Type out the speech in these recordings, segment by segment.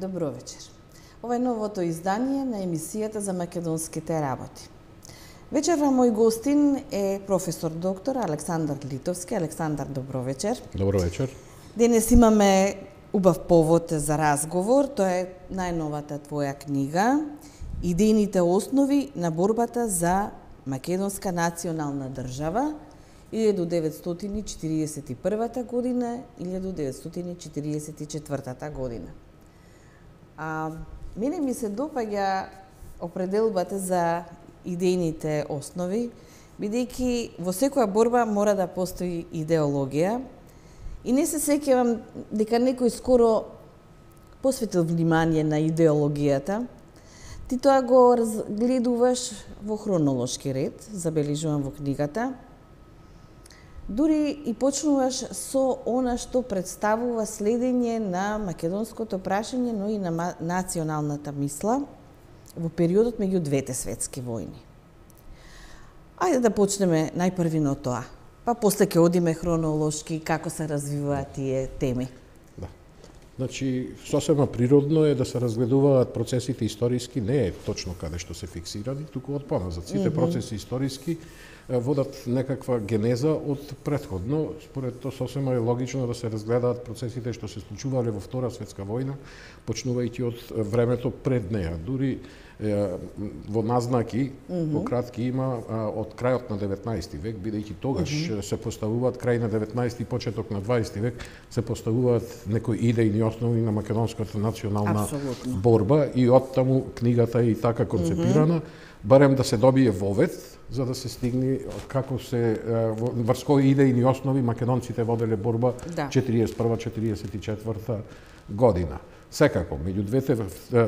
Добро вечер. Ова е новото издание на емисијата за македонските работи. Вечерва мој гостин е професор доктор Александар Литовски. Александар, добро вечер. Добро вечер. Денес имаме убав повод за разговор. Тоа е најновата твоја книга Идејните основи на борбата за македонска национална држава 1941 година 1944 година. Мене ми се допаѓа определбата за идејните основи, бидејќи во секоја борба мора да постои идеологија и не се сеќавам дека некој скоро посветил внимание на идеологијата. Ти тоа го разгледуваш во хронолошки ред, забележувам во книгата. Дури и почнуваш со она што представува следење на македонското прашање, но и на националната мисла во периодот меѓу двете светски војни. Ајде да почнеме најпрви на тоа, па после ќе одиме хронолошки како се развиваат тие теми. Да. Значи, сосема природно е да се разгледуваат процесите историски, не е точно каде што се фиксирани, туку од поназад. Сите процеси историски водат некаква генеза од претходно. Според тоа сосема е логично да се разгледаат процесите што се случувале во Втора светска војна, почнувајќи од времето пред неа. Дури во назнаки, во кратки има од крајот на 19 век, бидејќи тогаш се поставуваат крај на 19 и почеток на 20 век, се поставуваат некои идејни основи на македонската национална борба и оттаму книгата е и така концепирана, барем да се добие вовет, за да се стигне како се врз кои идејни основи македонците воделе борба 41-44 година. Секако, меѓу двете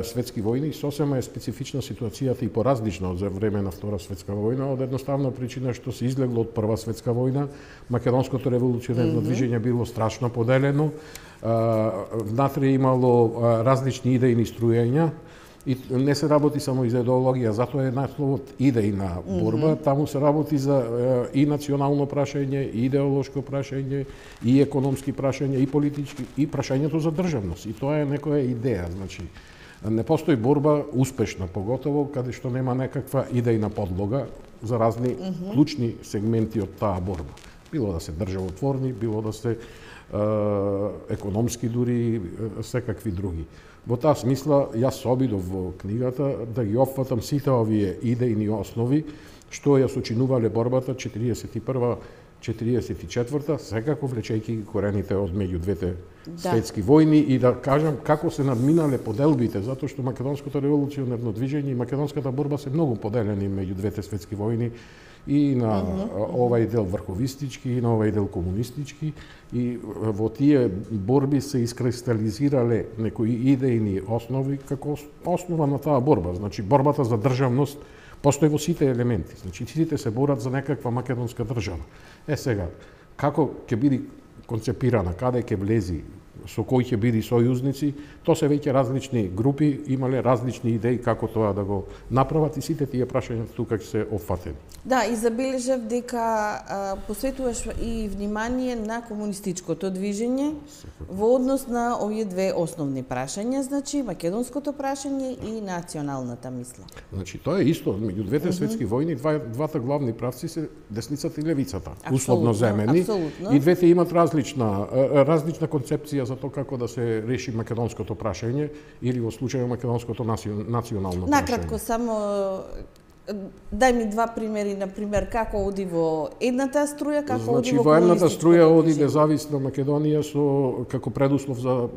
светски војни сосема е специфична ситуацијата и поразлична од за време на Втора светска војна, од едноставна причина што се излегло од Прва светска војна, македонското револуционерно движење било страшно поделено, внатре имало различни идејни струјења, и не се работи само за идеологија, затоа е насловот идејна борба, таму се работи за и национално прашање, и идеолошко прашање, и економски прашања, и политички, и прашањето за државност. И тоа е некоја идеја, значи не постои борба успешна, поготово каде што нема некаква идејна подлога за разни клучни сегменти од таа борба. Било да се државотворни, било да се економски дури, секакви други. Во таа смисла, јас се обидов во книгата да ги опфатам сите овие идејни основи што ја сочинувале борбата 41-44, секако влечејќи корените од меѓу двете светски војни и да кажам како се надминале поделбите, затоа што македонското револуционерно движење и македонската борба се многу поделени меѓу двете светски војни, и на овај дел врховистички, и на овај дел комунистички, и во тие борби се искристализирале некои идејни основи како основа на таа борба. Значи, борбата за државност постои во сите елементи. Значи, сите се борат за некаква македонска држава. Сега, како ќе биде концепирана, каде ќе влези, со кои ќе биде сојузници, тоа се веќе различни групи, имале различни идеи како тоа да го направат и сите тие прашања тука ќе се опфатени. Да, и забележав дека посветуваш и внимание на комунистичкото движење во однос на овие две основни прашања, значи македонското прашање и националната мисла. Значи тоа е исто, меѓу двете светски војни двата главни правци се десницата и левицата, условно земени, и двете имат различна концепција за тоа како да се реши македонското прашање или во случајот македонското национално прашање. Накратко само дај ми два примери, на пример, како оди во едната струја, како оди во комунистичкото. Значи, во едната струја оди независна Македонија како предуслов за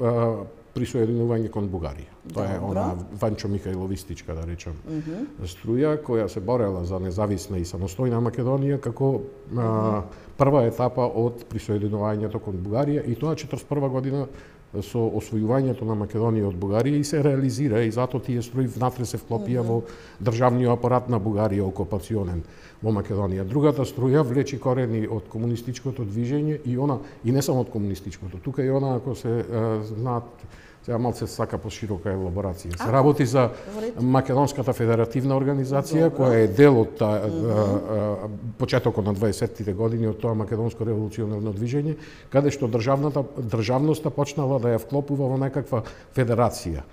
присоединување кон Бугарија. Тоа е она Ванчо Михајловистичка, да речам, струја која се борела за независна и самостојна Македонија како прва етапа од присоединувањето кон Бугарија, и тоа 41 година со освојувањето на Македонија од Бугарија и се реализира, и затоа тие струи внатре се вклопија во државниот апарат на Бугарија окупационен во Македонија. Другата струја влечи корени од комунистичкото движење и не само од комунистичкото. Тука и она, ако се знаат Сега малце сака поширока елаборација. Се работи за Македонската федеративна организација, која е дел од почетокот на 20-тите години од тоа македонско револуционарно движење, каде што државноста почнала да ја вклопува во некаква федерација.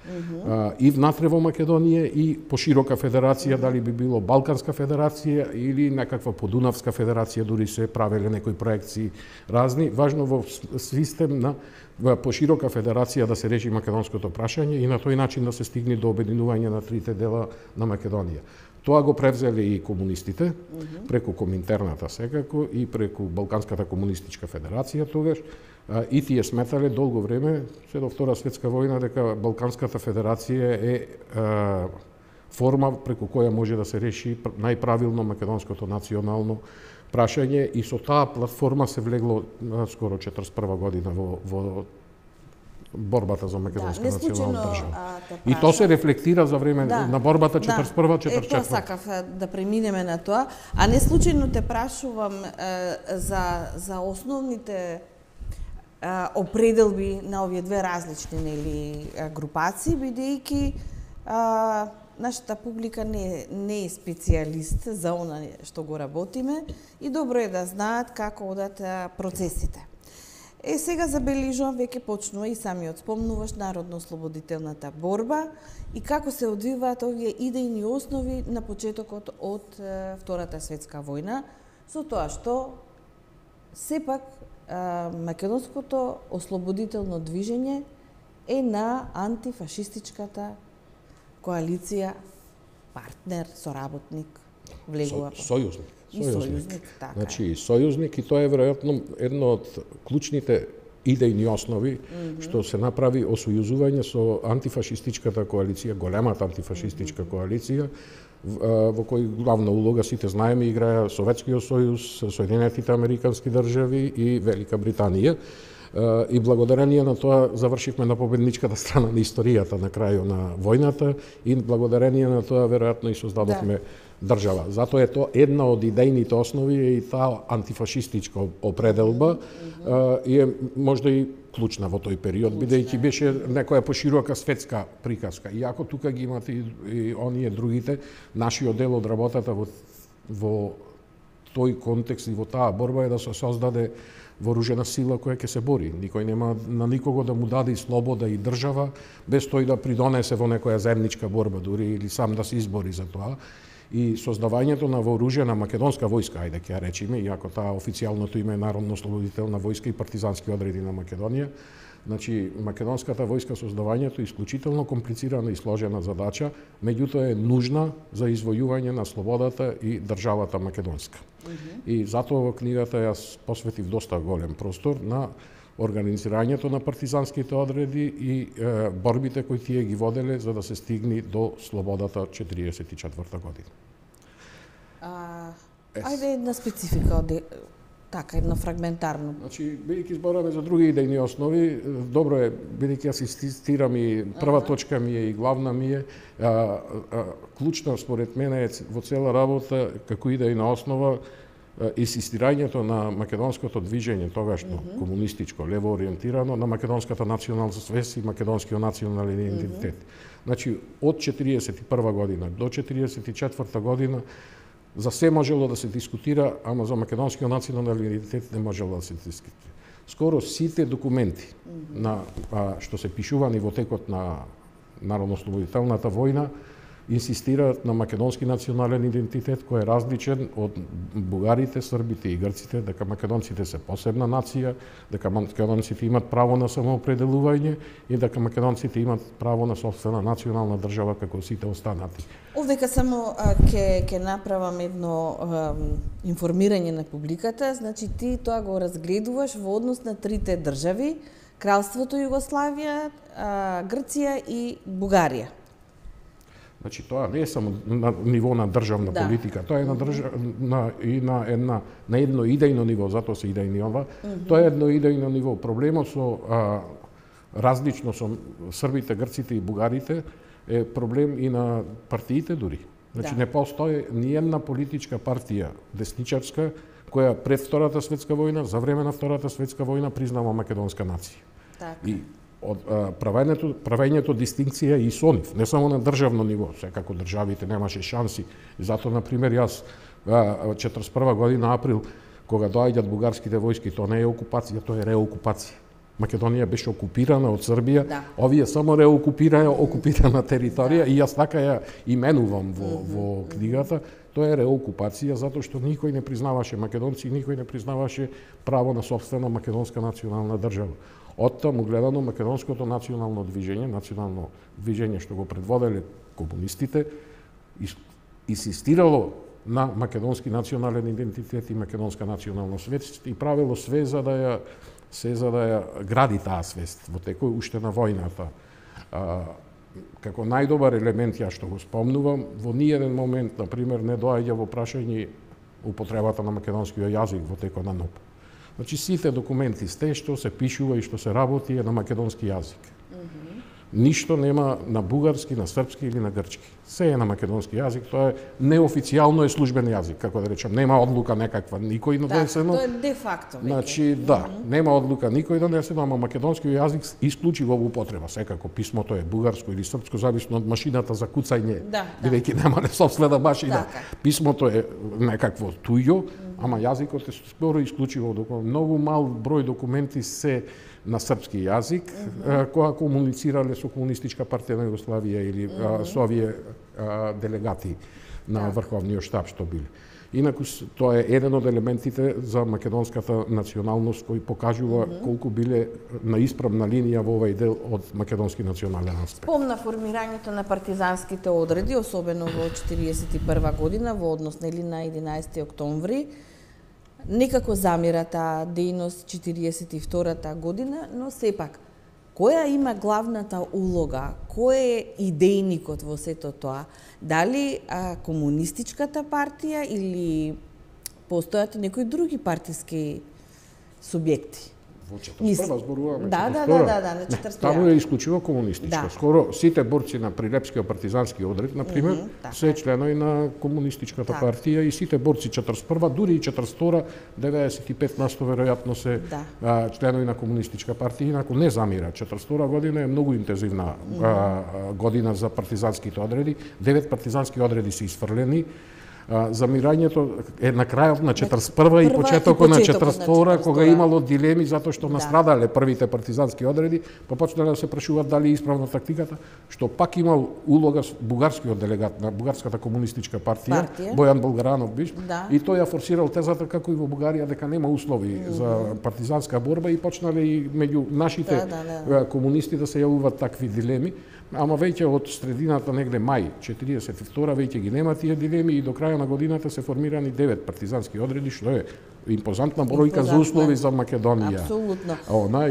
И внатре во Македонија и поширока федерација, дали би било Балканска федерација или некаква подунавска федерација, дури се правеле некои проекции разни. Важно во систем на поширока федерација да се реши македонското прашање и на тој начин да се стигне до обединување на трите дела на Македонија. Тоа го превзеле и комунистите, преку Коминтерната секако и преку Балканската комунистичка федерација тогаш, и тие сметале долго време, се до Втора светска војна, дека Балканската федерација е форма преку која може да се реши најправилно македонското национално прашање, и со таа платформа се влегло скоро 41 година во борбата за македонска национална држава. И тоа се рефлектира за време на борбата 41-44. Тоа сакав да преминеме на тоа, а не случајно те прашувам за основните определби на овие две различни групации, бидејќи нашата публика не е специјалист за она што го работиме и добро е да знаат како одат процесите. Сега забележувам, веќе почнува и самиот спомнуваш народно-ослободителната борба и како се одвиваат овие идејни основи на почетокот од Втората светска војна, со тоа што сепак македонското ослободително движење е на антифашистичката коалиција, партнер, соработник, влегува. Сојузник. Така. Значи, сојузник, и тоа е веројатно едно од клучните идејни основи што се направи осојузување со антифашистичката коалиција, големата антифашистичка коалиција, во кој главна улога, сите знаеме, играа Советскиот сојуз, Соединетите американски држави и Велика Британија. И благодарение на тоа завршивме на победничката страна на историјата на крајот на војната и благодарение на тоа веројатно и создадовме држава. Затоа е тоа една од идејните основи и таа антифашистичка определба и е можда и клучна во тој период, бидејќи беше некоја поширока светска приказка. Иако тука ги имате и оние другите, нашиот дел од работата во тој контекст и во таа борба е да се создаде вооружена сила која ќе се бори. Никој нема на никого да му даде и слобода и држава без тој да придонесе во некоја заедничка борба дури или сам да се избори за тоа. И создавањето на вооружена македонска војска, ајде ќе ја речеме, иако таа официјалното име е Народно-ослободителна војска и партизански одреди на Македонија. Значи, македонската војска, создавањето е исклучително комплицирана и сложена задача, меѓутоа е нужна за извојување на слободата и државата македонска. И затоа во книгата јас посветив доста голем простор на организирањето на партизанските одреди и борбите кои тие ги воделе за да се стигне до слободата 44 година. Ајде една специфика од така, едно фрагментарно. Значи, бидејќи збораме за други идејни основи, добро е, бидејќи јас инсистирам и прва точка ми е и главна ми е, клучна според мене е во цела работа како идејна основа инсистирањето на македонското движење, тогашно комунистичко, лево ориентирано, на македонската национална свест и македонскиот национален идентитет. Значи, од 41 година до 44 година за се можело да се дискутира, ама за македонскиот национален идентитет не можело да се дискутира. Скоро сите документи на што се пишувани во текот на Народно-ослободителната војна инсистираат на македонски национален идентитет кој е различен од бугарите, србите и грците, дека македонците се посебна нација, дека македонците имат право на самоопределување и дека македонците имат право на сопствена национална држава како сите останати. Овдека само ќе направам едно информирање на публиката, значи ти тоа го разгледуваш во однос на трите држави, Кралството Југославија, Грција и Бугарија. Значи тоа не е само на ниво на државна политика, тоа е на едно идејно ниво, затоа се идејни ова. Тоа е едно идејно ниво. Проблемот со различно со србите, грците и бугарите е проблем и на партиите дури. Значи не постои ни една политичка партија десничарска која пред Втората светска војна, за време на Втората светска војна признава македонска нација. И правењето дистинкција и со нив, не само на државно ниво, секако државите немаше шанси. Зато, например, јас 41 година април, кога доаѓаат бугарските војски, тоа не е окупација, тоа е реокупација. Македонија беше окупирана од Србија, овие само реокупираја окупирана територија и јас така ја именувам во книгата. Тоа е реокупација затоа што никој не признаваше македонци, никој не признаваше право на сопствена македонска национална држава. Од таму гледано македонското национално движење што го предводеле комунистите инсистирало на македонски национален идентитет и македонска национална свест и правило све за да ја гради таа свест во текој уште на војната. Како најдобар елемент, ја што го спомнувам, во ниеден момент, например, не доаѓа во прашање употребата на македонскиот јазик во текот на НОП. Значи, сите документи што се пишува и што се работи е на македонски јазик. Ништо нема на бугарски, на српски или на грчки. Се е на македонски јазик, тоа е неофицијално е службен јазик, како да речам, нема одлука некаква никој донесено. Тоа е де факто. Значи, да, нема одлука никој донесено, ама македонскиот јазик исклучиво во употреба. Секако писмото е бугарско или српско, зависно од машината за куцање, бидејќи нема собствена машина. Писмото е некакво туѓо, ама јазикот е скоро исклучиво. Многу мал број документи се на српски јазик, кога комуницирале со Комунистичка партија на Југославија или со овие делегати на Врховниот штаб што биле. Инаку тоа е еден од елементите за македонската националност кој покажува колку биле на исправна линија во овој дел од македонски национален аспект. Спомна формирањето на партизанските одреди, особено во 1941 година, во однос на 11. октомври. Некако замира таа дејност 42-та година, но сепак, која има главната улога? Кој е идејникот во сето тоа? Дали комунистичката партија или постојат некои други партиски субјекти? Во 41 зборуваме. Да, на 41. Таму е исклучиво комунистичка. Скоро сите борци на Прилепскиот партизански одред, например, се членови на комунистичката партија и сите борци 41, дури и 42, 95% веројатно се членови на комунистичка партија, инаку не замира. 42 година е многу интензивна година за партизанските одреди. 9 партизански одреди се изфрлени. Замирањето е на крајот на 41 и почетокот на 42, кога имало дилеми затоа што настрадале првите партизански одреди, па почнале да се прашуваат дали е исправна тактиката, што пак имал улога бугарскиот делегат на Бугарската комунистичка партија, Бојан Болгаранов биш, и тој ја форсирал тезата како и во Бугарија дека нема услови за партизанска борба и почнале и меѓу нашите комунисти да се јавуваат такви дилеми. Ама веќе од средината негде мај 42 веќе ги нема тие дилеми и до крај на годината се формирани 9 партизански одреди, што е импозантна бројка за услови за Македонија. Апсолутно.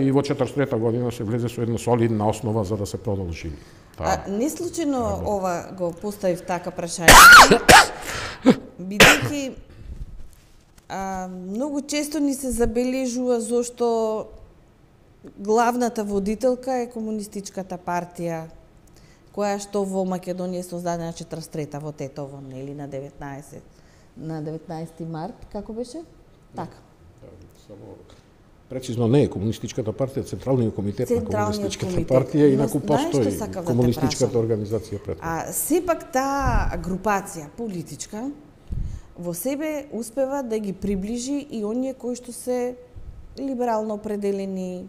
И во 43 година се влезе со една солидна основа за да се продолжи. Не случајно ова го поставив така прашање, бидејќи многу често ни се забележува зошто главната водителка е комунистичката партија, која што во Македонија е создадена 43-та во Тетово, нели на 19 март, како беше? Така. Само прецизно не е комунистичката партија, Централниот комитет на комунистичката партија, инаку постои комунистичката организација пред. Сепак таа групација политичка во себе успева да ги приближи и оние кои што се либерално определени,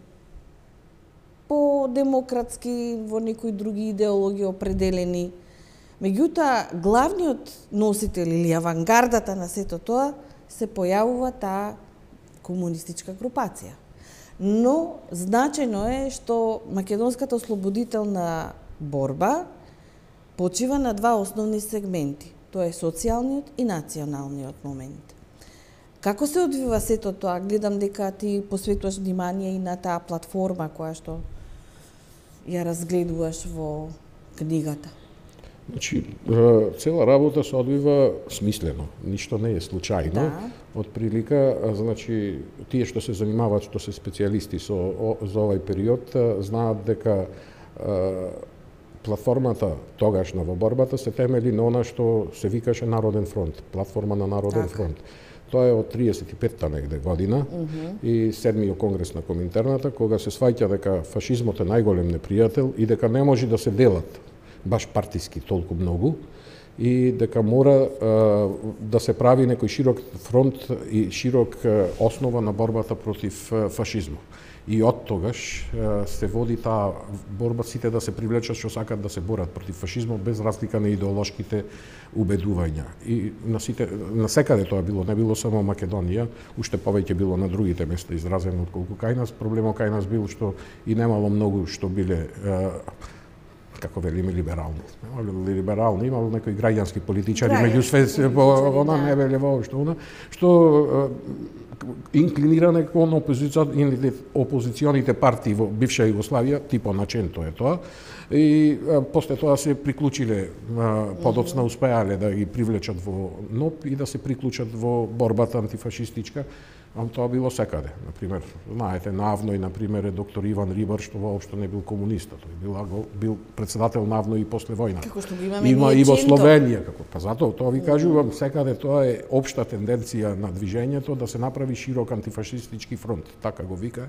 по-демократски, во некои други идеологии определени. Меѓутоа, главниот носител или авангардата на сето тоа се појавува таа комунистичка групација. Но значајно е што македонската ослободителна борба почива на два основни сегменти. Тоа е социјалниот и националниот момент. Како се одвива сето тоа? Гледам дека ти посветуваш внимание и на таа платформа која што ја разгледуваш во книгата. Значи, цела работа се одвива смислено, ништо не е случајно. Од прилика, значи, тие што се занимаваат, што се специјалисти за овој период, знаат дека платформата тогашна во борбата се темели на она што се викаше Народен фронт, платформа на Народен фронт. Тоа е од 35-та негде година и 7-миот конгрес на Коминтерната, кога се сваќа дека фашизмот е најголем непријател и дека не може да се делат баш партиски толку многу и дека мора да се прави некој широк фронт и широк основа на борбата против фашизмот. И од тогаш се води таа борба, сите да се привлечат што сакат да се борат против фашизмот без разлика на идеолошките убедувања. И на секаде тоа било, не било само Македонија, уште повеќе било на другите места изразено отколку кај нас. Проблемот кај нас бил што и немало многу што биле како велиме либерални. Либерални, имало некои граѓански политичари, меѓу све она не веле воопшто она, што инклиниране кон опозиционите партии во бивша Југославија, типо Наченто е тоа, и после тоа се приклучиле, подоцна успеале да ги привлечат во НОП и да се приклучат во борбата антифашистичка. Тоа било секаде. Например, знаете, Навној, например, е доктор Иван Рибар, што воопшто не бил комуниста. Тој бил председател Навној и после војна. Како што го имаме Има и во Словенија, како па затоа тоа ви кажувам, секаде тоа е општа тенденција на движењето да се направи широк антифашистички фронт, така го вика.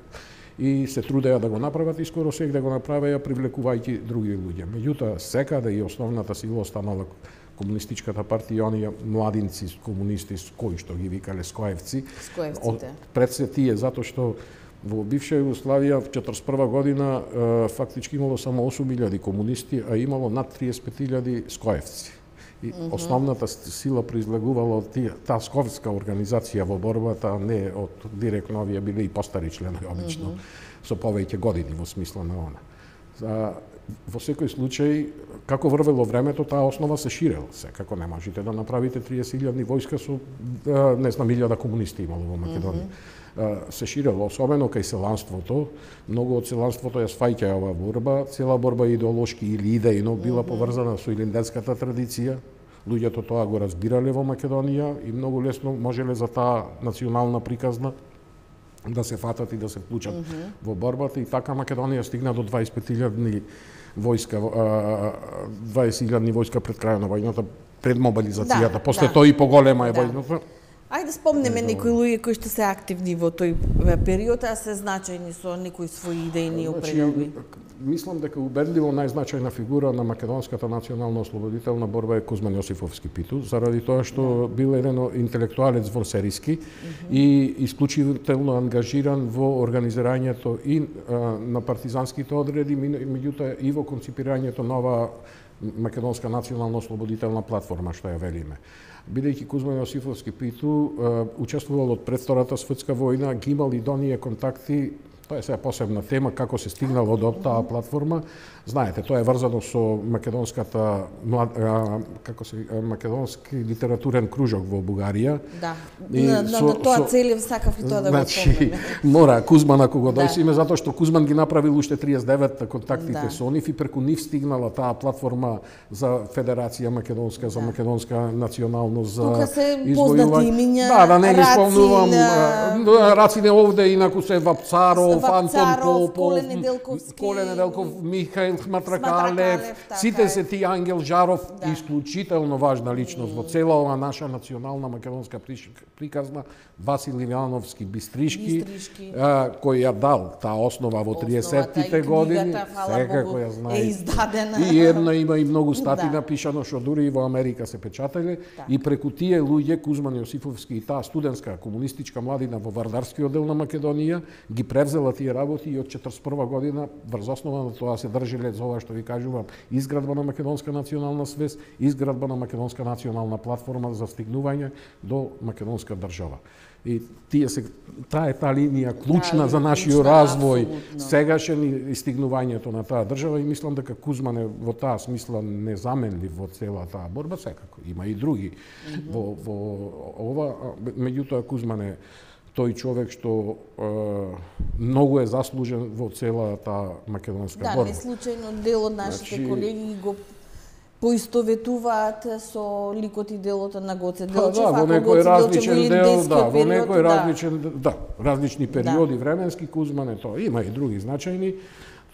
И се трудеа да го направат и скоро сега да го направеа привлекувајќи други луѓе. Меѓутоа, секаде и основната сила останала Комунистичката партија, оние младинци комунисти кои што ги викале скоевци. Скоевците. Пред се тие, затоа што во бивша Југославија в 41 година фактички имало само 8.000 комунисти, а имало над 35.000 скоевци. И основната сила произлегувала од таа сковска организација во борбата, а не од директно овие биле и постари членови обично, со повеќе години во смисла на она. Во секој случај, како врвело времето, таа основа се ширела. Секако не можете да направите 30.000 војска со, не знам, 1000 комунисти имало во Македонија. Се ширело, особено кај селанството. Многу од селанството ја сваќа ова борба. Цела борба идеолошки или идејно била поврзана со илинденската традиција. Луѓето тоа го разбирале во Македонија и многу лесно можеле за таа национална приказна да се фатат и да се вклучат во борбата, и така Македонија стигна до 25.000 војска, 20.000 војска пред крајот на војната, пред мобилизацијата. После тоа и поголема е војната. Ајде спомнеме некои луѓе кои што се активни во тој период, а се значајни со некои своји идејни определби. Мислам дека убедливо најзначајна фигура на македонската национална ослободителна борба е Кузман Јосифовски Питу, заради тоа што бил еден интелектуалец во Сериски и исклучително ангажиран во организирањето и на партизанските одреди, меѓутоа и во конципирањето нова македонска национална ослободителна платформа, што ја велиме. Бидејќи Кузман Јосифовски Питу учествувал од пред Втората светска војна, ги имал и до ние контакти. Тоа е сега посебна тема, како се стигнало до таа платформа. Знаете, тоа е врзано со македонската македонски литературен кружок во Бугарија. Да. На тоа целев сакав и тоа да го спомнеме. Мора Кузман ако го дојсиме, затоа што Кузман ги направил уште 39-та контактите со нив и преку нив стигнала таа платформа за Федерација македонска, за македонска националност, за тука се познати имиња. Да не ги спомнувам. Рацине овде инаку се Вапцаров, Антон Попов, Коле Неделков, Михаил Хматракалев, сите се тие, Ангел Жаров, исклучително важна личност во цела ова наша национална македонска приказна, Васил Ивановски Бистришки, кој ја дал таа основа во 30-тите години, секако ја знаете. И една има и многу стати напишано што дури и во Америка се печатале, и преку тие луѓе Кузман Јосифовски и таа студентска комунистичка младина во Вардарскиот дел на Македонија ги превзела тие работи и од 41 година врз основа на тоа се држиле за ова што ви кажувам, изградба на македонска национална свест, изградба на македонска национална платформа за стигнување до македонска држава. И таа линија клучна за нашиот развој, сегашен и стигнувањето на таа држава, и мислам дека Кузман е во таа смисла незаменлив во цела таа борба, секако има и други во ова, меѓутоа Кузман е тој човек што многу е заслужен во цела таа македонска борба. Да, не случајно дел од нашите колеги го поистоветуваат со ликот и делото на Гоце Делчев, во некој различен дел, во некој различни периоди временски Кузман е тоа. Има и други значајни.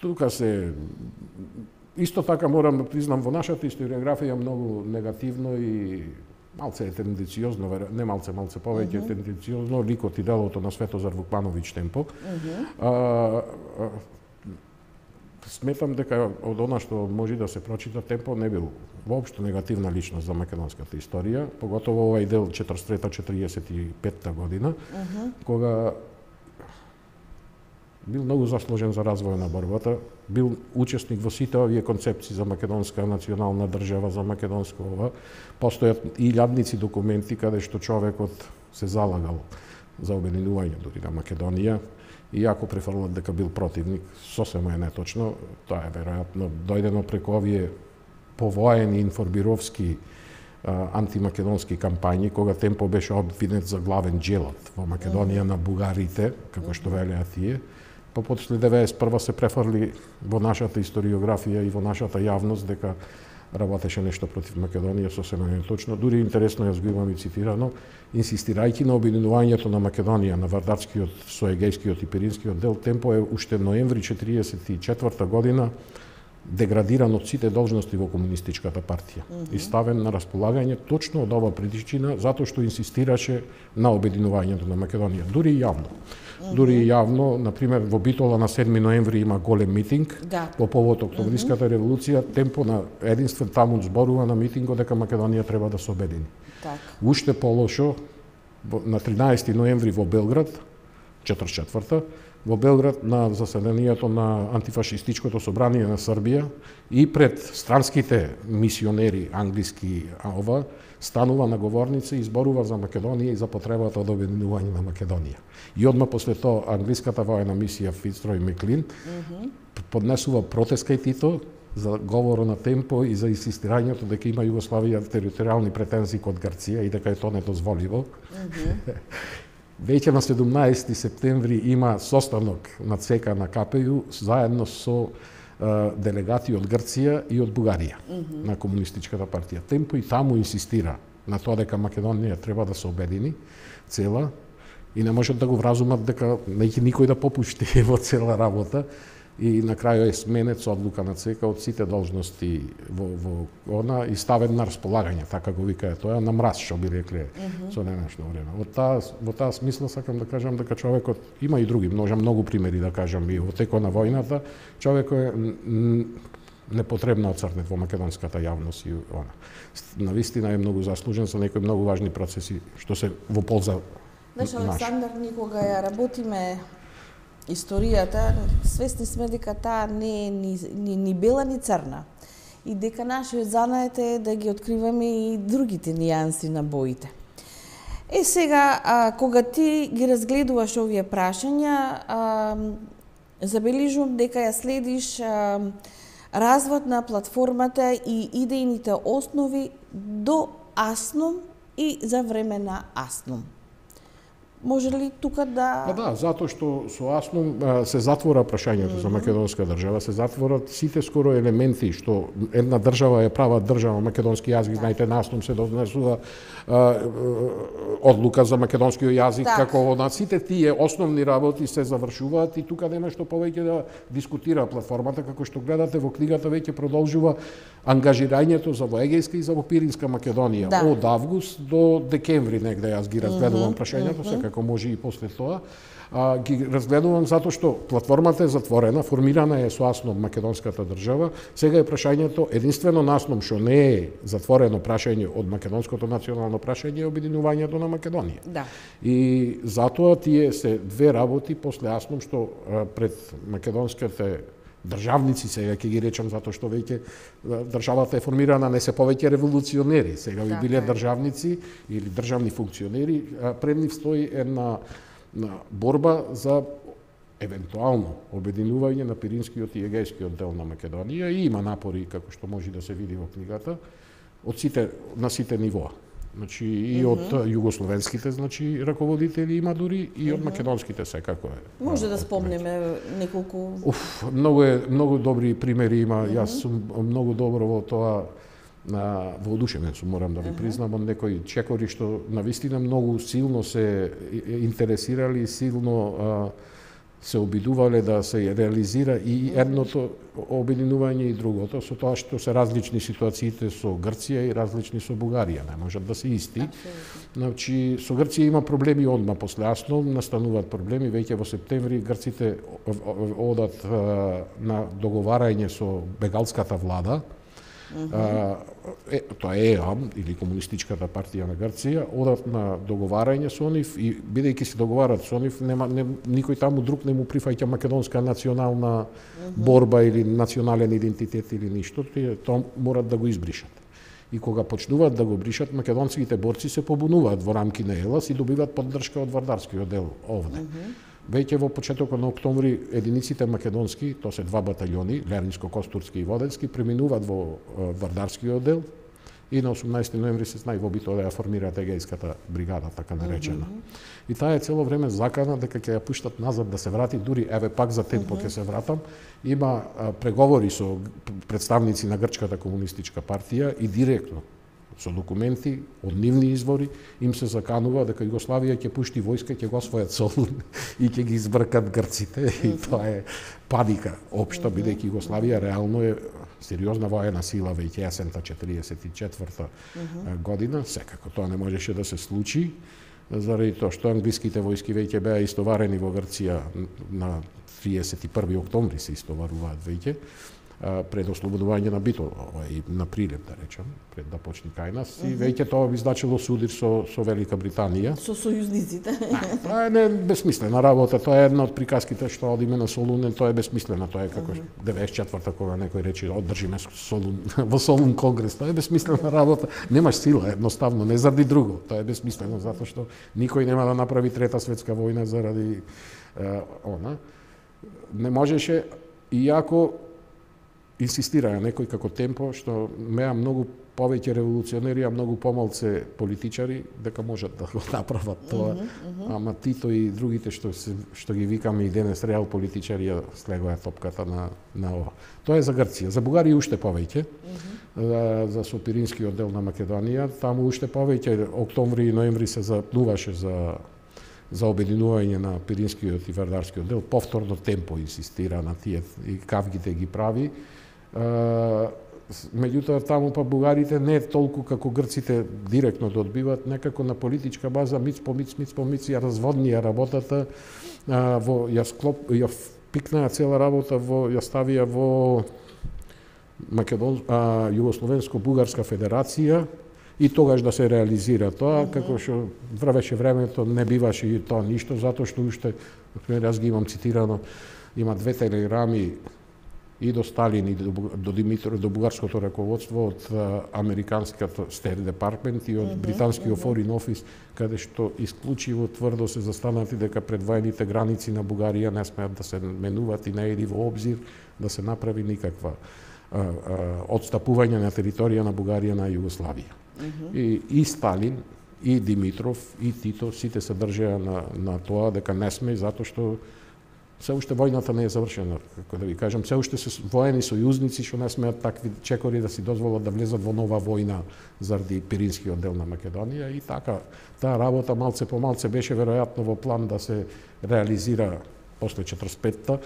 Тука се исто така морам да признам во нашата историографија многу негативно и малце е тенденциозно, не малце повеќе тенденциозно, ликот и делото на Светозар Вукмановиќ Темпо. Сметам дека од она што може да се прочита, Темпо не бил воопшто негативна личност за македонската историја, поготово овај дел 43-45 година, кога бил многу заслужен за развој на борбата, бил учесник во сите овие концепции за македонска национална држава, за македонско ова. Постојат илјадници документи каде што човекот се залагал за обединување дури на Македонија, иако префрлат дека бил противник, сосема е неточно. Тоа е веројатно дојдено преку овие повоени информировски антимакедонски кампањи, кога Темпо беше обвинет за главен джелат во Македонија на бугарите, како што велеа тие. Па после 91 се префрли во нашата историографија и во нашата јавност дека работеше нешто против Македонија, сосема неточно. Дури интересно јас го имам и цитирано, инсистирајќи на обединувањето на Македонија на Вардарскиот со Егејскиот и Пиринскиот дел, Темпо е уште ноември 1944 година деградиран од сите должности во комунистичката партија и ставен на располагање точно од ова причина, затоа што инсистираше на обединувањето на Македонија, дури и јавно. Дури и јавно, например, во Битола на 7 ноември има голем митинг по повод Октомвриската револуција, Темпо на единствен таму зборува на митингот дека Македонија треба да се обедини. Уште полошо, на 13 ноември во Белград, 44-та, во Белград на заседанието на антифашистичкото собрание на Србија и пред странските мисионери англиски станува на говорница и зборува за Македонија и за потребата од обединување на Македонија. И одма после тоа англиската воена мисија Фицрой Меклин поднесува протест кај Тито за говоро на Темпо и за инсистирањето дека има Југославија територијални претензии кон Грција и дека е тоа недозволиво. Веќе на 17 септември има состанок на ЦК на КПЈ заедно со делегати од Грција и од Бугарија на комунистичката партија. Темпо и таму инсистира на тоа дека Македонија треба да се обедини цела и не можат да го вразумат дека неќе никој да попушти во цела работа. И на крајот е сменет со одлука на ЦК од сите должности во она и ставен на располагање, така го викае тоа, на мраз, што би рекле со денешно време. Во таа смисла сакам да кажам дека човекот има и други, многу примери да кажам и во текот на војната, човекот е непотребно оцрнет во македонската јавност и она. Навистина е многу заслужен за некои многу важни процеси што се во полза наша. Александар, никога ја работиме историјата, свесни сме дека таа не е ни бела ни црна и дека нашиот занает е да ги откриваме и другите нијанси на боите. Сега, кога ти ги разгледуваш овие прашања, забележувам дека ја следиш развод на платформата и идејните основи до АСНОМ и за време на АСНОМ. Може ли тука да... Да, затоа што со АСНОМ се затвора прашањето за македонска држава, се затворат сите скоро елементи што една држава е права држава, македонски јазик, знаете, на АСНОМ се донесува одлука за македонскиот јазик, како на сите тие основни работи се завршуваат и тука нема што повеќе да дискутира платформата, како што гледате во книгата веќе продолжува ангажирањето за во Егејска и за во Пиринска Македонија од август до декември негде јас ги разгледувам прашањето, како може и после тоа. Ги разгледувам затоа што платформата е затворена, формирана е со АСНОМ македонската држава. Сега е прашањето единствено на АСНОМ што не е затворено прашање од македонското национално прашање е обединувањето на Македонија. И затоа тие се две работи после АСНОМ што пред македонските државници, сега ќе ги речам затоа што веќе државата е формирана, не се повеќе револуционери, сега би биле државници или државни функционери, пред нив стои една борба за евентуално обединување на Пиринскиот и Егејскиот дел на Македонија и има напори, како што може да се види во книгата, на сите нивоа. Значи и од југословенските, значи раководители има дури и од македонските секако е. Може да спомнеме неколку. Многу добри примери има. Јас сум многу добро во тоа, воодушевен сум, морам да ви признам, од некои чекори што навистина многу силно се интересирали, силно се обидувале да се реализира и едното обединување и другото, со тоа што се различни ситуациите со Грција и различни со Бугарија, не можат да се исти. Значи, со Грција има проблеми одма после Аснол, настануваат проблеми, веќе во септември грците одат на договарање со бегалската влада, тоа е ЕАМ, или Комунистичката партија на Грција, одат на договарање со нив и бидејќи се договарат со нив, никој таму друг не му прифаќа македонска национална борба или национален идентитет или ништо, тоа морат да го избришат. И кога почнуваат да го бришат, македонските борци се побунуваат во рамки на ЕЛАС и добиваат поддршка од Вардарскиот дел овде. Веќе во почетокот на октомври единиците македонски, тоа се 2 батальони, Лерниско-Костурски и Воденски, преминуваат во Вардарскиот дел и на 18 ноември се знаи во битва да ја формираат Егејската бригада, така наречена. И таа е цело време закана дека ќе ја пуштат назад да се врати, дури еве пак за темпо ќе се вратам. Има преговори со представници на Грчката комунистичка партија и директно со документи од нивни извори им се заканува дека Југославија ќе пушти војска, ќе го освојат Солун и ќе ги избркат грците. И тоа е паника општа, бидејќи Југославија реално е сериозна воена сила веќе есента 44-та година. Секако тоа не можеше да се случи, заради тоа што англиските војски веќе беа истоварени во Грција на 31 октомври се истоваруваат веќе, пред ослободување на Битол, и на Прилеп, да речем, пред да почне кај нас. И веќе тоа би значило судир со Велика Британија. Со сојузниците. Тоа е безсмислена работа, тоа е една од приказките што одиме на Солун, тоа е безсмислено, тоа е како 94-та кога некој рече одржиме Солун, во Солун конгрес, тоа е безсмислена работа. Немаш сила, едноставно, не заради друго, тоа е безсмислено, затоа што никој нема да направи трета светска војна заради она. Не можеше, иако инсистираа некој како темпо, што меа многу повеќе револуционери, а многу помалце политичари, дека можат да го направат тоа. Ама Тито и другите што ги викаме и денес реал политичари ја слегоа топката на ова. Тоа е за Грција. За Бугарија уште повеќе. За Сопиринскиот дел на Македонија, таму уште повеќе октомври и ноември се запнуваше за обединување на Пиринскиот и Вардарскиот дел. Повторно темпо инсистира на тие и кавгите ги прави. Меѓутоа таму па бугарите не толку како грците директно да одбиваат, некако на политичка база миц по миц ја разводнија работата, ја пикнаа цела работа ја ставија во Југословенско-бугарска федерација и тогаш да се реализира тоа, како што врвеше времето, не биваше и тоа ништо, затоа што уште, јас ги имам цитирано, има 2 телеграми и до Сталин и до Димитров, до бугарското раководство од американското State Department и од британскиот Foreign Office, каде што исклучиво тврдо се застанати дека предвоените граници на Бугарија не смеат да се менуваат и не иде во обзир да се направи никаква отстапување на територија на Бугарија на Југославија. И Сталин, и Димитров, и Тито, сите се држеа на тоа дека не сме, затоа што се уште војната не е завршена, како да ви кажам, се уште се воени сојузници што не смеат такви чекори да си дозволат да влезат во нова војна заради Пиринскиот дел на Македонија и така таа работа малце по малце беше веројатно во план да се реализира после 45-та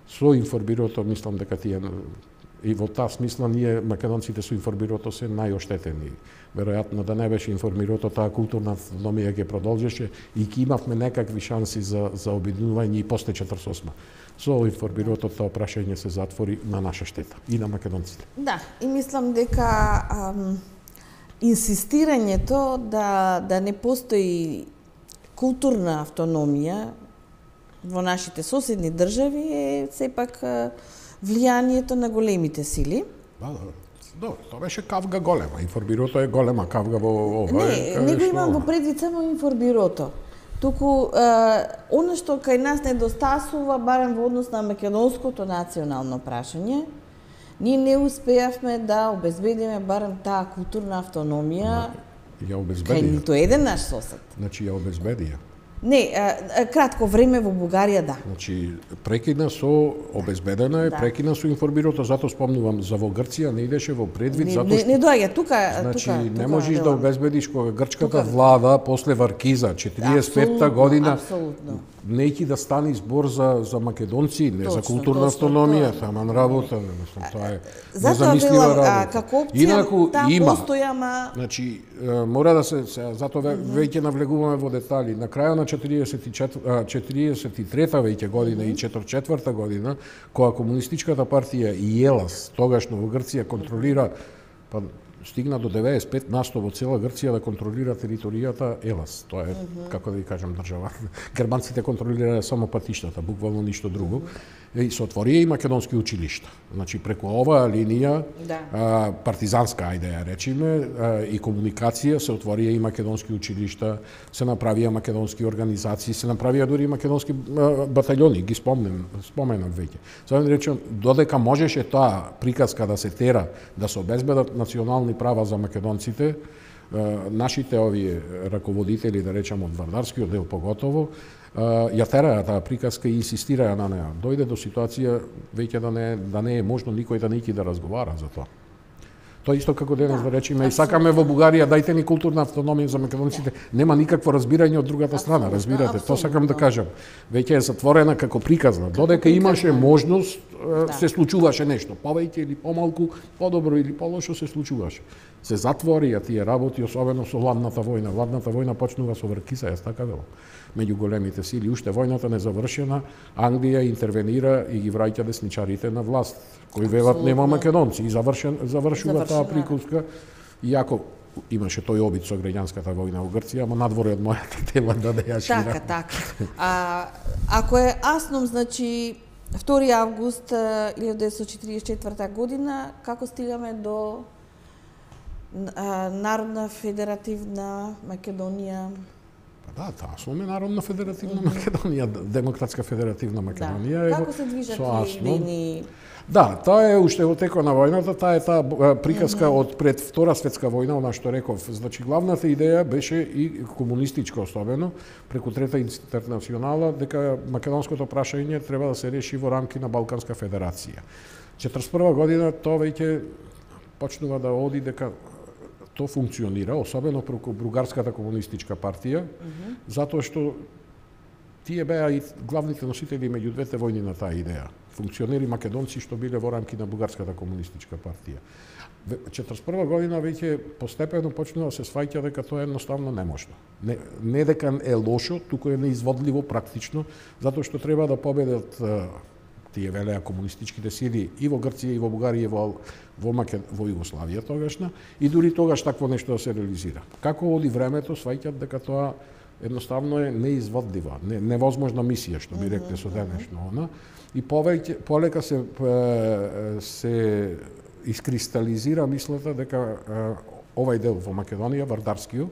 со информбирото, мислам дека тие и во таа смисла ние македонците со информбирото се најоштетени. Веројатно да не беше информирото, таа културна автономија ќе продолжеше и ќе имавме некакви шанси за обединување и после 48. Со информбирото тоа прашање се затвори на наша штета и на македонците. Да, и мислам дека инсистирањето да не постои културна автономија во нашите соседни држави е сепак влијанието на големите сили. Добро, тоа беше кавга голема. Информбирото е голема кавга во ова. Не го имам во предвид само информбирото. Туку, оно што кај нас недостасува, барем во однос на македонското национално прашање, ние не успеавме да обезбедиме барем таа културна автономија кај ниту еден наш сосед. Значи, ја обезбедија. Не, кратко време во Бугарија, да. Значи, прекина со обезбедена е, прекина со информбирото, затоа спомнувам за во Грција не идеше во предвид, затоа што не доаѓа тука. Значи, не можеш да обезбедиш кога грчката влада после Варкиза 45-та година. Апсолутно. нејки да стани збор за македонци, не за културна автономија, таман работа, мислам, тоа е незамислива работа. Како опција, има, постоја, ама... Значи, мора да се, затоа веќе навлегуваме во детали. На крајот на 43-та веќе година и 44-та година, кога комунистичката партија и ЕЛАС, тогашно во Грција, контролира, па стигна до 95% во цела Грција да контролира територијата ЕЛАС. Тоа е, како да ви кажам, држава. Германците контролираа само патиштата, буквално ништо друго. И се отворија и македонски училишта. Значи, преку оваа линија, партизанска, ајде ја речиме, и комуникација, се отворија и македонски училишта, се направија македонски организации, се направија дури и македонски батальони, ги споменав веќе. Сега да речем, додека можеше таа приказка да се тера, да се обезбедат национални права за македонците, нашите овие раководители, да речем од Вардарскиот дел поготово, ја тераа таа приказка и инсистираа на неа. Дојде до ситуација веќе да не е можно никој да нејки да разговара за тоа. Тоа исто како денес да речеме, и сакаме во Бугарија, дајте ни културна автономија за македонците. Нема никакво разбирање од другата страна, разбирате? Тоа сакам да кажам. Веќе е затворена како приказна. Додека имаше можност, се случуваше нешто. Повеќе или помалку, подобро или полошо се случуваше. Се затворија тие работи, особено со Ладната војна. Ладната војна почнува со Вркица, јас така велам. Меѓу големите сили, уште војната не завршена, Англија интервенира и ги враќа десничарите на власт, кои велат нема македонци, и завршува таа приказка, иако имаше тој обид со граѓанската војна во Грција, ама надвор од мојата тема да ја ширам. Така. Ако е Асном, значи 2 август 1944 година, како стигаме до Народна федеративна Македонија? Да, таа сме Народна федеративна Македонија, Демократска федеративна Македонија. Како се движат идејни? Да, тоа е уште во текот на војната, таа е таа приказка од пред Втора светска војна, она што реков. Значи, главната идеја беше и комунистичка особено, преку Трета интернационала, дека македонското прашање треба да се реши во рамки на Балканска федерација. 41 година тоа веќе почнува да оди дека тоа функционира, особено преку Бугарската комунистичка партија, затоа што тие беа и главните носители меѓу двете војни на таа идеја. Функционери македонци што биле во рамки на Бугарската комунистичка партија. 41 година веќе постепено почнува да се сваќа дека тоа едноставно неможно. Не дека е лошо, туку е неизводливо практично, затоа што треба да победат тие велеа комунистичките сили и во Грција и во Бугарија и во Југославија тогашна, и дури тогаш такво нешто да се реализира. Како оди времето, сваќат дека тоа едноставно е неизводлива, невозможна мисија, што би рекле со денешно она, и полека се искристализира мислата дека овај дел во Македонија, Вардарскиот,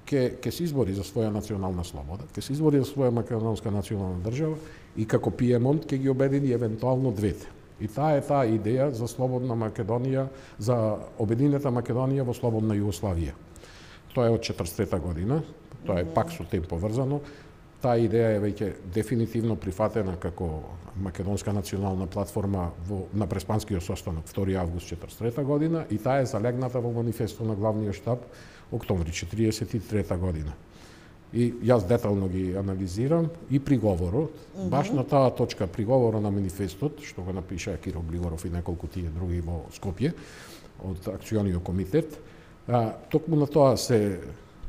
ќе се избори за своја национална слобода, ќе се избори за своја македонска национална држава и како Пиемонт ќе ги обедини евентуално двете. И таа е таа идеја за слободна Македонија, за обединета Македонија во слободна Југославија. Тоа е од 43 година, тоа е пак со тем поврзано. Таа идеја е веќе дефинитивно прифатена како македонска национална платформа на Преспанскиот состанок 2 август 43 година и таа е залегната во манифесто на главниот штаб октомври 43 година. И јас детално ги анализирам и приговорот, баш на таа точка приговорот на манифестот, што го напиша Киро Глигоров и неколку тие други во Скопје, од акциониот комитет, токму на тоа се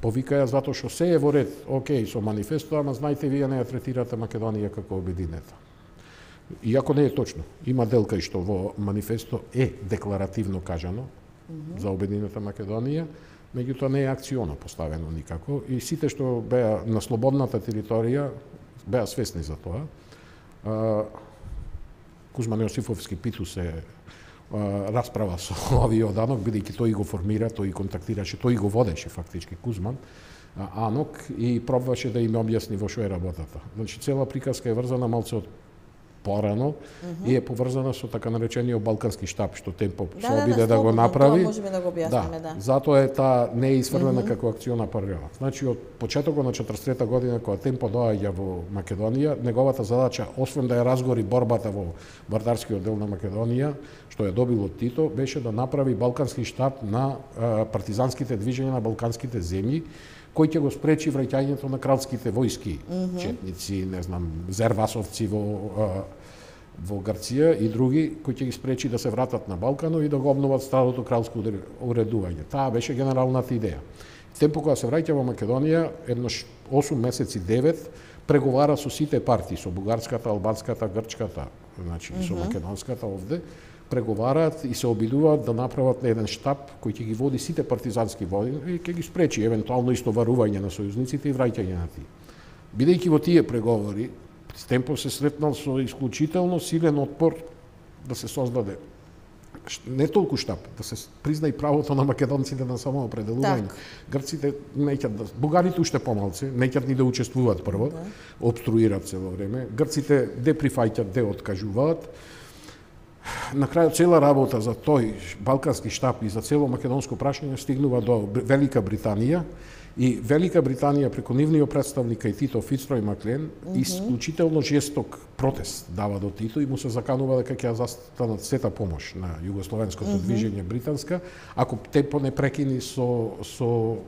повикаја затоа што се е во ред, окей, со манифестот, ама знајте, вие не ја третирате Македонија како обединета. Иако не е точно. Има дел кај што во манифесто е декларативно кажано за обединета Македонија, меѓутоа не е акционо поставено никако и сите што беа на слободната територија беа свесни за тоа. Кузман Јосифовски питу се расправа со овиот Анок, бидејќи тој го формира, тој контактираше, тој го водеше фактички Кузман Анок и пробваше да им објасни во што е работата. Значи цела приказка е врзана малце од порано и е поврзана со така наречениот Балкански штаб, што Темпо се обиде да го направи. Тоа можеме да го објасниме, да. Затоа е таа не е исфрлена како акциона паралела. Значи од почетокот на 43 година кога Темпо доаѓа во Македонија, неговата задача, освен да ја разгори борбата во Вардарскиот дел на Македонија, што ја добил од Тито, беше да направи Балкански штаб на партизанските движења на балканските земји, кој ќе го спречи враќањето на кралските војски, четници, не знам, зервасовци во Грција и други, кои ќе ги спречи да се вратат на Балканот и да го обноват старото кралско уредување. Таа беше генералната идеја. Темпо кога се враќа во Македонија, еднош 8 месеци 9 преговара со сите партии, со бугарската, албанската, грчката, значи и со македонската овде, преговараат и се обидуваат да направат еден штаб кој ќе ги води сите партизански војни и ќе ги спречи евентуално истоварување на сојузниците и враќање на тие. Бидејќи во тие преговори, Стемпов се сретнал со исклучително силен отпор да се создаде не толку штаб, да се призна и правото на македонците на самоопределување. Грците неќат бугарите уште помалце, неќат ни да учествуваат прво, обструират се во време. Грците де прифаќат, де откажуваат. На крајот цела работа за тој балкански штаб и за цело македонско прашање стигнува до Велика Британија и Велика Британија преку нивниот представник и Тито Фицрой Маклен исклучително жесток протест дава до Тито и му се заканува дека ќе застанат сета помош на југословенското движење британска, ако Темпо не прекини со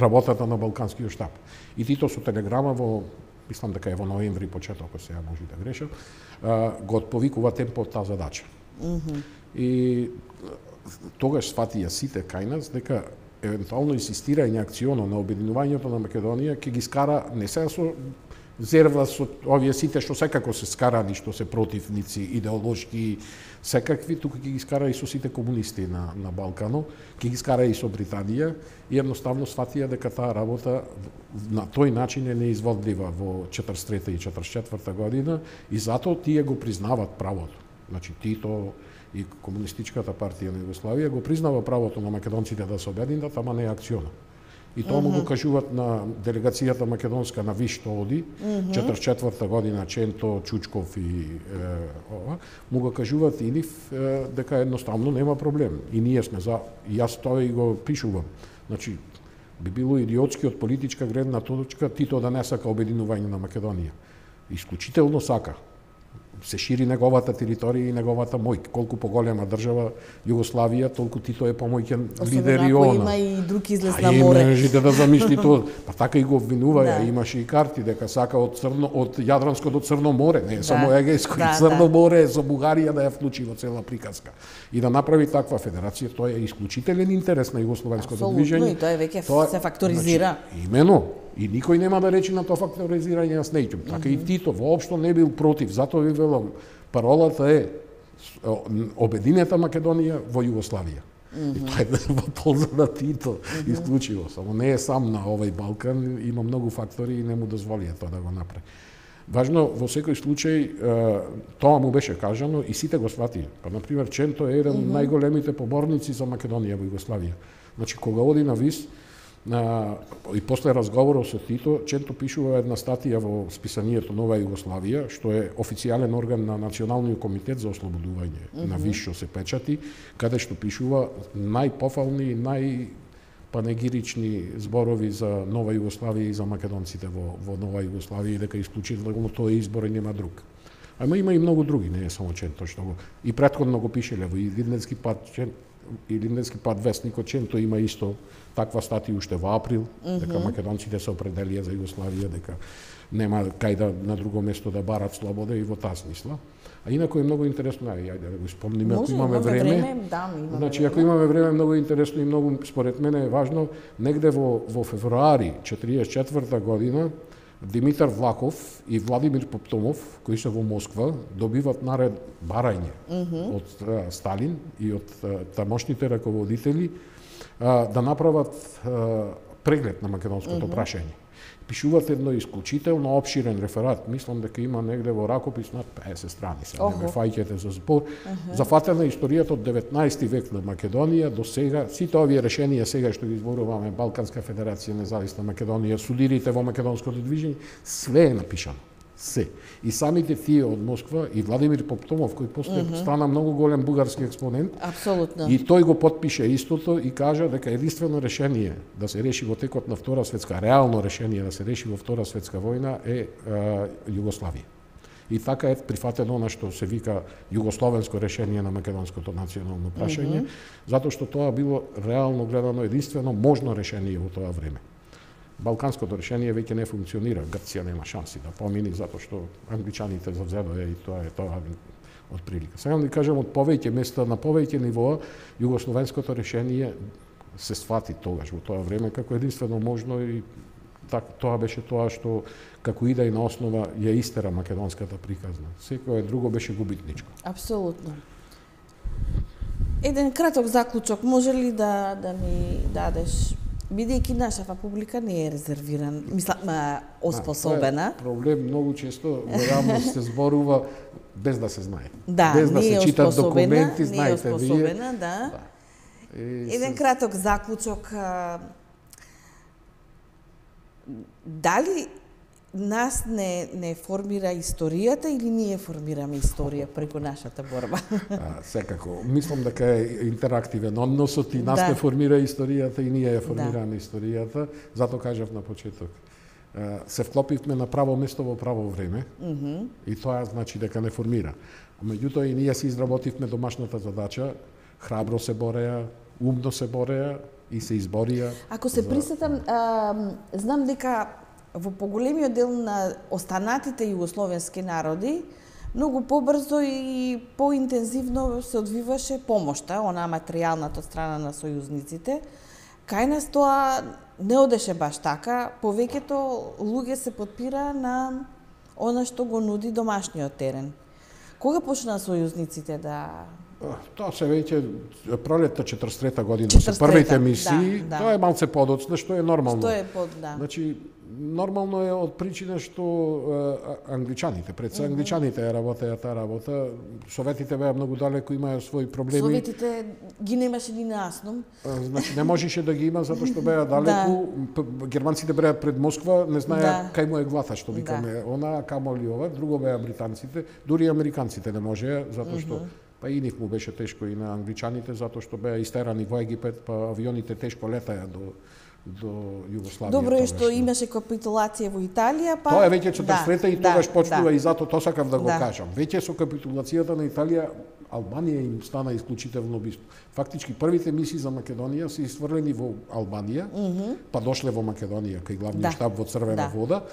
работата на балканскиот штаб. И Тито со телеграма мислам дека е во ноември почетокот, сега може да грешам, го отповикува Темпо таа задача. И тогаш сватија сите кај нас дека евентуално инсистирање акционо на обединувањето на Македонија ќе ги скара не сега со зерва со овие сите што секако се скарани, што се противници идеолошки секакви, тука ќе ги скара и со сите комунисти на Балкано, ќе ги скара и со Британија и едноставно сватија дека таа работа на тој начин е неизводлива во 43 и 44 година и затоа тие го признават правото. Значи Тито и Комунистичката партија на Југославија го признава правото на македонците да се обединат, ама не акционо. И тоа му го кажуваат на делегацијата македонска на ВИШ што оди, 44 година Ченто, Чучков и му го кажуваат и нив дека едноставно нема проблем. И ние сме за, и јас тоа и го пишувам. Значи, би било идиотски од политичка гледна точка Тито да не сака обединување на Македонија. Исклучително сака. Се шири неговата територија и неговата моќ. Колку поголема држава Југославија, толку Тито е помоќен лидер и она. Има и друг излез на море. Можете да замисли тоа. Па така и го обвинуваја, имаше и карти дека сака од Јадранското до Црно море, не само Егејско и Црно море за Бугарија да ја вклучи во цела приказка. И да направи таква федерација, тоа е исклучителен интерес на југословенското движење. И тоа веќе се факторизира. Значи, имено. И никој нема да речи на тоа факторизирање, јас неќум. Така и Тито воопшто не бил против, затоа ви велам, паролата е обединета Македонија во Југославија. И тоа е во полза на Тито, исклучиво. Само не е сам на овој Балкан, има многу фактори и не му дозволија тоа да го направи. Важно, во секој случај, тоа му беше кажано и сите го сватија. Па, например, Ченто е еден од најголемите поборници за Македонија во Југославија. Значи, кога оди на ВИС, и после разговорот со Тито, Ченто пишува една статија во списанието Нова Југославија, што е официјален орган на Националниот комитет за ослободување на ВИС, што се печати, каде што пишува најпофални и најпанегирични зборови за Нова Југославија и за македонците во Нова Југославија и дека исклучително тој избор и нема друг. Ама има и многу други, не е само Ченто што го и претходно го пишеле во Илинденски пат вестникот Ченто има исто таква статија уште во април, дека македонците се определија за Југославија, дека нема кај да на друго место да барат слобода и во таа смисла. А инаку е многу интересно, ајде да го спомниме ако имаме време. Значи ако имаме време, многу интересно и многу според мене е важно, негде во февруари 44 година Димитар Влахов и Владимир Поптомов, кои се во Москва, добиват наред барање од Сталин и од тамошните раководители да направат преглед на македонското прашање. Пишуваат едно исклучително обширен реферат, мислам дека има негде во ракопис над 50 страни, се не ме фаќате за збор. Зафатена историјата од 19 век на Македонија до сега, сите овие решенија сега што ги зборуваме, Балканска федерација, независна Македонија, судирите во македонското движење, све е напишано. Се. И самите тие од Москва и Владимир Поптомов, кој после стана многу голем бугарски експонент, апсолутно. И тој го потпише истото и кажа дека единствено решение да се реши во текот на Втора светска, реално решение да се реши во Втора светска војна е Југославија. И така е прифатено она што се вика југословенско решение на македонското национално прашање, затоа што тоа било реално гледано единствено можно решение во тоа време. балканското решение веќе не функционира. Грција нема шанси да помини затоа што англичаните завзедоа и тоа е тоа од прилика. Сега да кажам, од повеќе места на повеќе нивоа југословенското решение се свати тогаш во тоа време како единствено можно и тоа беше тоа што како идеја на основа ја истера македонската приказна. Секое друго беше губитничко. Апсолутно. Еден краток заклучок може ли да ми дадеш, бидејќи нашава публика не е резервиран, мислам, оспособена. Проблем многу често во јавност се зборува без да се знае. Да, без да се читат документи, знаете вие. Оспособена, да. Еден краток заклучок. Дали нас не формира историјата или ние формираме историја преку нашата борба? Секако. Мислам дека е интерактивен односот и нас не формира историјата и ние ја формираме историјата. Затоа кажав на почеток. Се вклопивме на право место во право време и тоа значи дека не формира. Меѓутоа и ние си изработивме домашната задача, храбро се бореа, умно се бореа и се изборија. Ако се присетам, знам дека во поголемиот дел на останатите југословенски народи многу побрзо и поинтензивно се одвиваше помошта, онаа материјалната од страна на сојузниците. Кај нас тоа не одеше баш така, повеќето луѓе се подпира на она што го нуди домашниот терен. Кога почнаа сојузниците да... Тоа се веќе пролетта 43-та година се првите мисии, тоа е малце подоцна, што е нормално. Што е Значи, нормално е од причина што англичаните, пред се англичаните работеа таа работа, советите беа многу далеко, имаа своји проблеми. Советите ги немаше ни наасном. Значи не можеше да ги има затоа што беа далеку. Германците беа пред Москва, не знаеа кај му е глата, што викаме, она камоли ова, друго беа британците, дури американците не можеа затоа што па и нив му беше тешко и на англичаните затоа што беа истерани во Египет, па авионите тешко летаја до Југославија. Добро е што имаше капитулација во Италија, па тоа е веќе 43-та и тогаш почнува и затоа тоа сакам да го кажам. Веќе со капитулацијата на Италија Албанија им стана исклучително убиство. Фактички првите мисии за Македонија се isfрлени во Албанија, па дошле во Македонија кај главниот штаб во Црвена вода.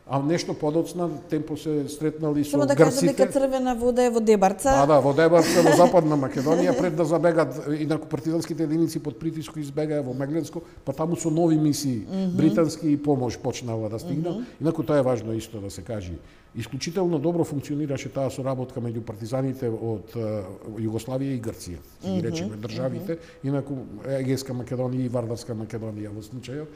А нешто подоцна темпо се сретнали со грците. Само да кажам дека Црвена вода е во Дебарца. Да, во Дебарца, во Западна Македонија, пред да забегат, инаку партизанските единици под притиск избегаа во Мегленско, па таму со нови мисии, британски и помош почнала да стигна. Инаку тоа е важно исто да се каже. Исклучително добро функционираше таа соработка меѓу партизаните од Југославија и Грција. Ги речеме државите, инаку Егејска Македонија и Вардарска Македонија во случајот.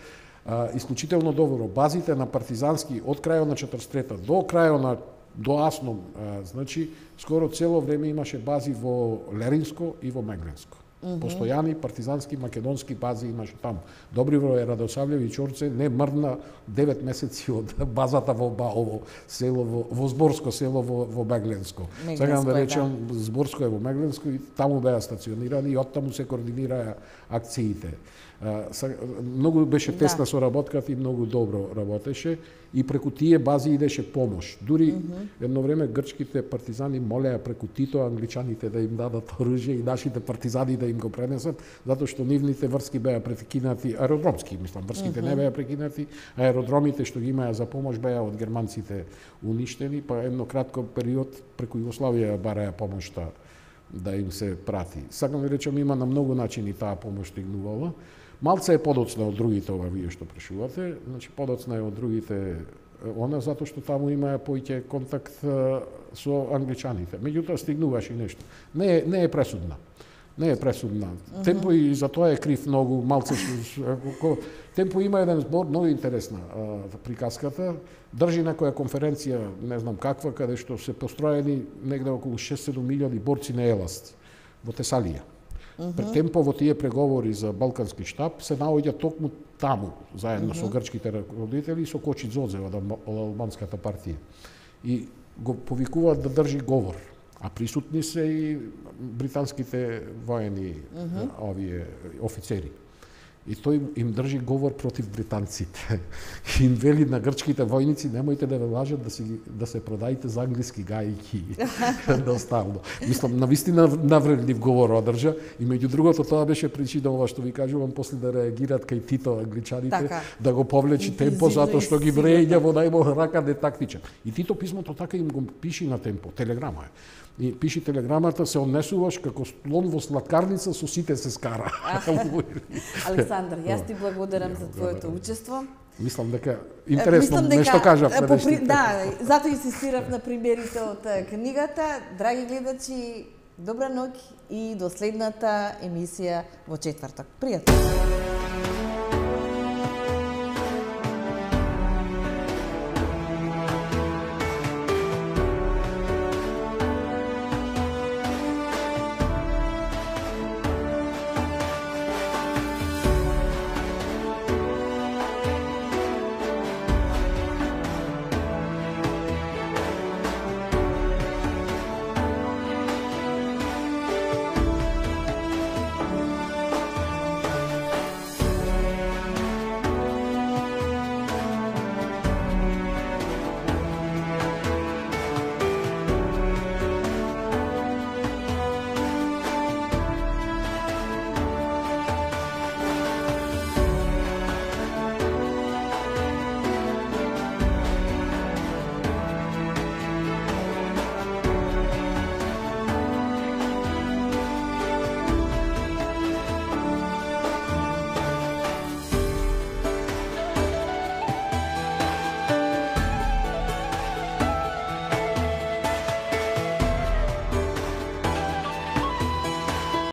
Исклучително добро. Базите на партизански од крајот на 43-та до крајот на до Асном, значи скоро цело време имаше бази во Леринско и во Мегленско. Постојани партизански македонски бази имаше таму. Добривој Радосављевиќ Орце не мрдна 9 месеци од базата во Баово село во Зборско село во Мегленско. Сега да речем Зборско е во Мегленско и таму беа стационирани и оттаму се координираа акциите. Многу беше тесна соработката и многу добро работеше и преку тие бази идеше помош. Дури едно време грчките партизани молеа преку Тито англичаните да им дадат оружје и нашите партизани да им го пренесат, затоа што нивните врски беа прекинати, аеродромски, мислам, врските не беа прекинати, аеродромите што ги имаа за помош беа од германците уништени, па едно кратко период преку Југославија бараја помошта да им се прати. Сакам да речам, има на многу начини таа помош стигнувала. Малце е подоцна од другите ова вие што прашувате, значи подоцна е од другите она затоа што таму имаа поиќе контакт со англичаните. Меѓутоа стигнуваше и нешто. Не е пресудна. Не е пресудна. Темпо и за тоа е крив многу, малце Темпо има еден збор многу интересна приказката. Држи некоја конференција, не знам каква, каде што се построени негде околу 6-7 милиони борци на еласт во Тесалија. Пред Темпо во тие преговори за Балкански штаб се наоѓа токму таму, заедно со грчките раководители и со Кочи Дзодзе од албанската партија. И го повикуваат да држи говор. А присутни се и британските воени овие офицери. и тој им држи говор против британците. И им вели на грчките војници, немојте да ве лажат да се продаите за англиски гајки. Доставно. Мислам, навистина навредлив говор одржа и меѓу другото тоа беше причина ова што ви кажувам после да реагираат кај Тито англичаните, да го повлечи Темпо затоа што ги вреѓа во најмал рака нетактичен. И Тито писмото така им го пиши на Темпо, телеграма е. И пиши телеграмата, се однесуваш како слон во сладкарница, со сите се скара. Александар, јас ти благодарам за твоето учество. Мислам дека интересно нешто кажав. Да, затоа инсистирав на примерите од книгата. Драги гледачи, добра ноќ и до следната емисија во четврток. Пријатно!